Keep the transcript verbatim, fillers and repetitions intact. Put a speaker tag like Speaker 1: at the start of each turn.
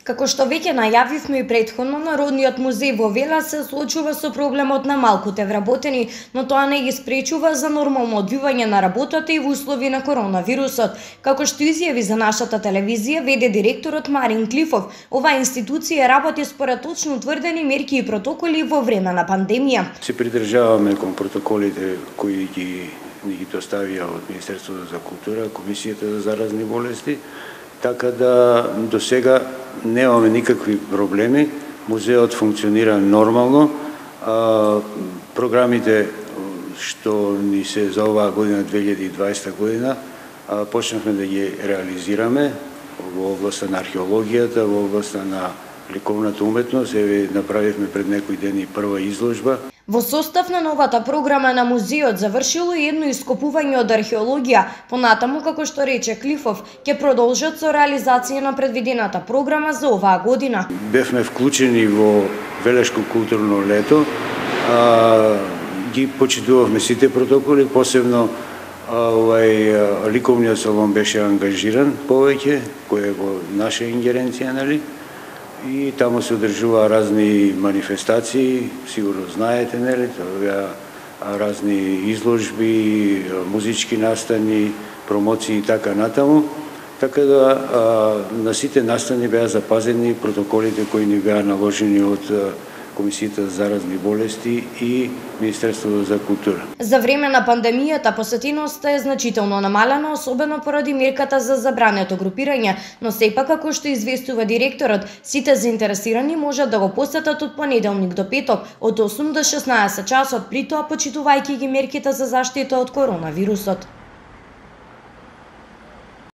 Speaker 1: Како што веќе најавивме и претходно, Народниот музеј во Вела се соочува со проблемот на малкуте вработени, но тоа не ги спречува за нормално одвивање на работата и во услови на коронавирусот. Како што изјави за нашата телевизија веде директорот Марин Клифов, оваа институција работи според точно утврдени мерки и протоколи во време на пандемија.
Speaker 2: Се придржаваме кон протоколите кои ги ни ги доставија од Министерството за култура, Комисијата за заразни болести, така да до сега немаме никакви проблеми. Музеот функционира нормално. А, програмите што ни се за оваа година, две илјади и дваесета година, а, почнавме да ги реализираме во областа на археологијата, во областа на ликовната уметност. Еве направивме пред некои дени прва изложба.
Speaker 1: Во состав на новата програма на музеот завршило и едно ископување од археологија. Понатаму, како што рече Клифов, ќе продолжат со реализација на предвидената програма за оваа година.
Speaker 2: Бевме вклучени во Велешко културно лето. А, ги почитувавме сите протоколи, посебно а, овај ликовниот салон беше ангажиран повеќе, кој е во наша ингеренција, нели? И таму се одржува разни манифестации, сигурно знаете, нели, тоа разни изложби, музички настани, промоции и така натаму. Така да а, на сите настани беа запазени протоколите кои ни беа наложени од Комисијата за заразни болести и Министерството за култура.
Speaker 1: За време на пандемијата посетеноста е значително намалена, особено поради мерката за забрането групирање, но сепак, како што известува директорот, сите заинтересирани можат да го посетат од понеделник до петок од осум до шеснаесет часот, при тоа почитувајќи ги мерките за заштита од коронавирусот.